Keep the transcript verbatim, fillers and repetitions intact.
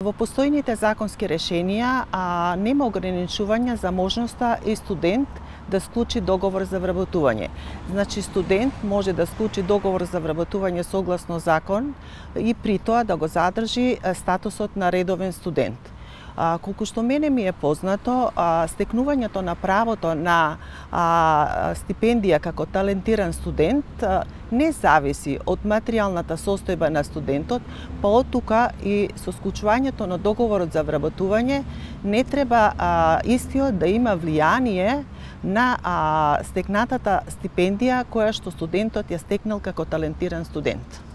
Во постојните законски решенија а, нема ограничување за можноста и студент да склучи договор за вработување. Значи, студент може да склучи договор за вработување согласно закон и при тоа да го задржи статусот на редовен студент. А, колку што мене ми е познато, а, стекнувањето на правото на а, стипендија како талентиран студент а, не зависи од материјалната состојба на студентот, па од тука и со склучувањето на договорот за вработување не треба а, истиот да има влијание на а, стекнатата стипендија која што студентот ја стекнал како талентиран студент.